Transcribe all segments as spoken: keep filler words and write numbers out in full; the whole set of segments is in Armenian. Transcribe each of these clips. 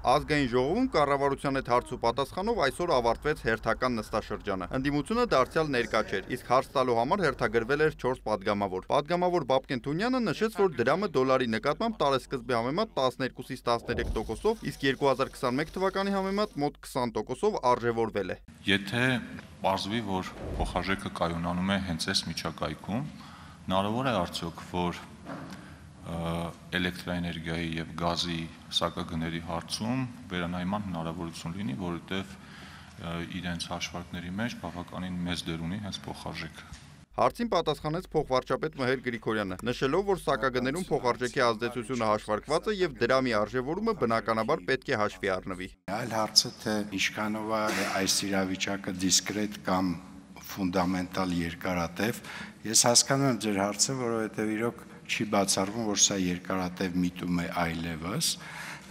Ազգային ժողովում կառավարության հետ հարց ու պատասխանով այսօր ավարտվեց հերթական նստաշրջանը։ Ընդդիմությունը դարձյալ ներկա չէր, իսկ հարց տալու համար հերթագրվել էր չորս պատգամավոր։ Պատգամավոր Բաբկեն Թունյանը նշեց, որ դրամը դոլարի նկատմամբ տարեսկզբի համեմատ տասներկուսից տասներեք տոկոսով, իսկ երկու հազար քսանմեկ թվականի համեմատ մոտ քսան տոկոսով արժևորվել է։ Եթե պարզվի, որ փոխարժեքը կայունանում է հենց այս միջակայքում, հնարավոր է արդյոք, որ էլեկտրաէներգիայի եւ գազի սակագների հարցում վերանայման հնարավորություն լինի, որովհետեւ իրենց հաշվարկների մեջ բավականին մեծ դեր ունի հենց փոխարժեքը։ Հարցին պատասխանեց փոխվարչապետ Մհեր Գրիգորյանը, նշելով, որ սակագներում փոխարժեքի ազդեցությունը հաշվարկված է եւ դրամի արժևորումը բնականաբար պետք է հաշվի առնվի։ Այլ հարցը թե ինչքանով է այս իրավիճակը դիսկրետ կամ ֆունդամենտալ երկարատև, ես հասկանում եմ ձեր հարցը, որովհետեւ իրոք չի բացառվում, որ սա երկարատև միտում է այլևս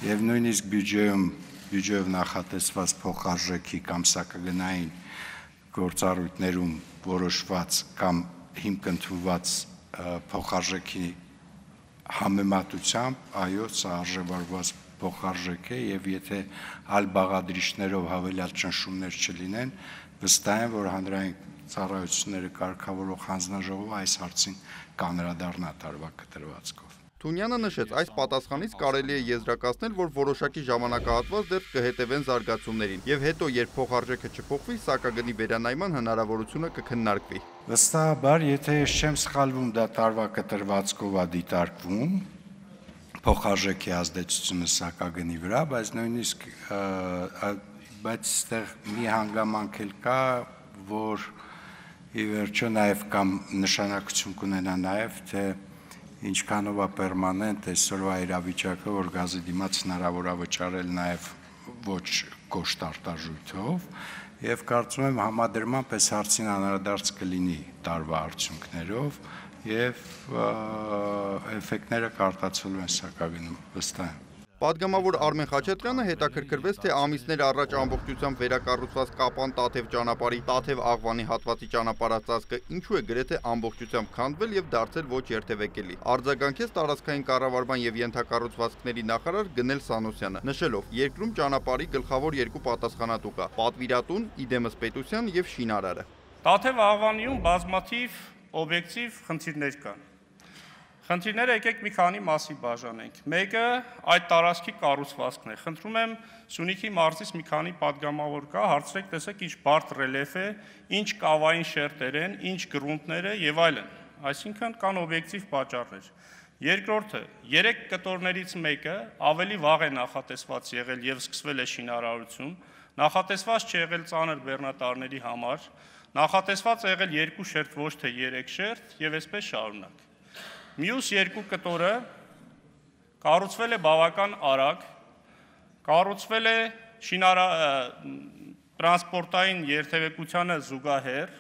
եւ նույնիսկ բյուջեում բյուջեով նախատեսված փոխարժեքի կամ սակագնային գործառույթներում որոշված կամ հիմք ընդունված փոխարժեքի համեմատությամբ այո, սա արժևորված փոխարժեք է եւ եթե այլ բաղադրիչներով հավելյալ ճնշումներ չլինեն, վստահ եմ, որ հանրային ծառայությունները կարգավորող հանձնաժողովը այս հարցին կանրադառնա տարվա կտրվածքով։ Թունյանը նշեց, այս պատասխանից կարելի է եզրակացնել, որ որոշակի ժամանակահատված դեռ կհետևեն զարգացումներին եւ հետո երբ փոխարժեքը չփոխվի, սակագնի վերանայման հնարավորությունը կքննարկվի։ Վստահաբար, եթե ես չեմ սխալվում, դա տարվա կտրվածքով է դիտարկվում փոխարժեքի ազդեցությունը սակագնի վրա, բայց նույնիսկ բայց այստեղ մի հանգամանք էլ կա, որ ի վերջո նաև կամ նշանակություն կունենա նաև, թե ինչքանով է պերմանենտ այսօրվա իրավիճակը, որ գազի դիմաց հնարավոր է վճարել նաև ոչ կոշտ արտարժույթով, եւ կարծում եմ համադրման պես հարցին անդրադարձ կլինի տարվա արդյունքներով եւ էֆեկտները կարտացվելու են սակագնում, վստահ եմ։ Պատգամավոր Արմեն Խաչատրյանը հետաքրքրվեց, թե ամիսներ առաջ ամբողջությամբ վերակառուցված Կապան-Տաթև ճանապարհի Տաթև-Աղվանի հատվածի ճանապարհածածկը ինչու է գրեթե ամբողջությամբ քանդվել եւ դարձել ոչ երթևեկելի։ Արձագանքեց տարածքային կառավարման եւ ենթակառուցվածքների նախարար Գնել Սանոսյանը, նշելով, երկրում ճանապարհի գլխավոր երկու պատասխանատու կա՝ պատվիրատուն, իդեմս պետության եւ շինարարը։ Տաթև-Աղվանիում բազմաթիվ օբյեկտիվ խնդիրներ կան։ Խնդիրները եկեք մի քանի մասի բաժանենք։ Մեկը այդ տարածքի կառուցվածքն է։ Խնդրում եմ Սյունիքի մարզից մի քանի պատգամավոր կա, հարցրեք, տեսեք ինչ բարդ ռելիեֆ է, ինչ կավային շերտեր են, ինչ գրունտներ է եւ այլն։ Այսինքն կան օբյեկտիվ պատճառներ։ Երկրորդը, երեք կտորներից մեկը ավելի վաղ է նախատեսված եղել եւ սկսվել է շինարարություն, նախատեսված չի եղել ծանր բեռնատարների համար, նախատեսված է եղել երկու շերտ, ոչ թե երեք շերտ եւ այսպես շարունակ։ Մյուս երկու կտորը կառուցվել է բավական արագ, կառուցվել է շինարա տրանսպորտային երթևեկությանը զուգահեռ,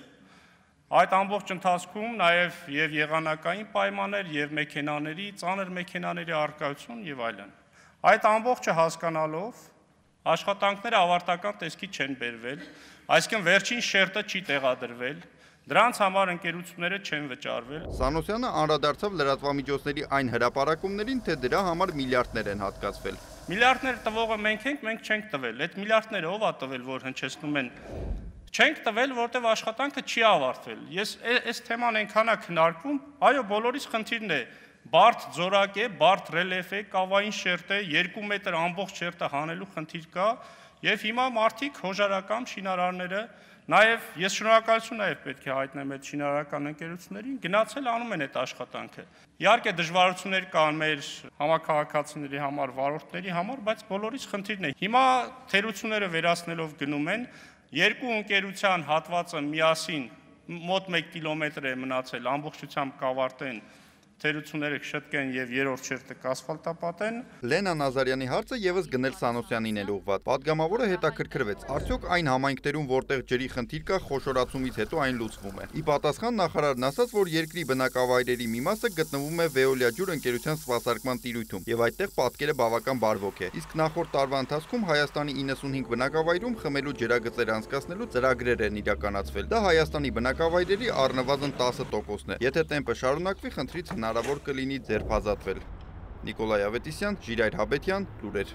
այդ ամբողջ ընթացքում նաև եւ եղանակային պայմաններ եւ մեքենաների, ծանր մեքենաների առկայություն եւ այլն։ Այդ ամբողջը հասկանալով աշխատանքները ավարտական տեսքի չեն բերվել, այսինքն վերջին շերտը չի տեղադրվել, դրանց համար ընկերությունները չեն վճարվել։ Սանոսյանը անդրադարձավ լրատվամիջոցների այն հրապարակումներին, թե դրա համար միլիարդներ են հատկացվել։ Միլիարդներ տվողը մենք ենք, մենք չենք տվել։ Այդ միլիարդները ով է տվել, որ հնչեցնում են։ Չենք տվել, որտեղ աշխատանքը չի ավարտվել։ Ես այս թեման այնքան է քննարկվում, այո, բոլորիս խնդիրն է։ Բարդ ձորակ է, բարդ ռելիեֆ է, կավային շերտ է, երկու մետր ամբողջ շերտը հանելու խնդիր կա, եւ հիմա մարդիկ հոժարական շինարարները Նաև ես շնորհակալություն նաև պետք է հայտնեմ այդ շինարարական ընկերություններին, գնացել անում են այդ աշխատանքը։ Իհարկե դժվարություններ կան մեր համակարգացիների համար, վարորդների համար, բայց բոլորիս խնդիրն է։ Հիմա թերությունները վերացնելով գնում են, երկու ընկերության հատվածը միասին մոտ մեկ կիլոմետր է մնացել, ամբողջությամբ կավարտեն թերությունները կշտկեն եւ երրորդ շերտը կասֆալտապատեն։ Լենա Նազարյանի հարցը եւս Գնել Սանոսյանին էր ուղղված։ Պատգամավորը հետաքրքրվեց, արդյոք այն համայնքներում, որտեղ ջրի խնդիր կա, խոշորացումից հետո այն լուծվում է։ Ի պատասխան նախարարն ասաց, որ երկրի բնակավայրերի մի մասը գտնվում է Veolia ջուր ընկերության սպասարկման տիրույթում եւ այդտեղ պատկերը բավական բարվոք է։ Իսկ նախորդ տարվա ընթացքում Հայաստանի իննսունհինգ բնակավայրում խմելու ջրագծեր անցկացնելու ծրագրեր են իրականացվել։ Դա Հայաստանի բնակավայրերի առնվազն տասը տոկոսն է։ Եթե տեմպը շարունակվի, խնդրից հնարավոր կլինի ձերբազատվել։ Նիկոլայ Ավետիսյան, Ժիրայր Հաբետյան, լուրեր։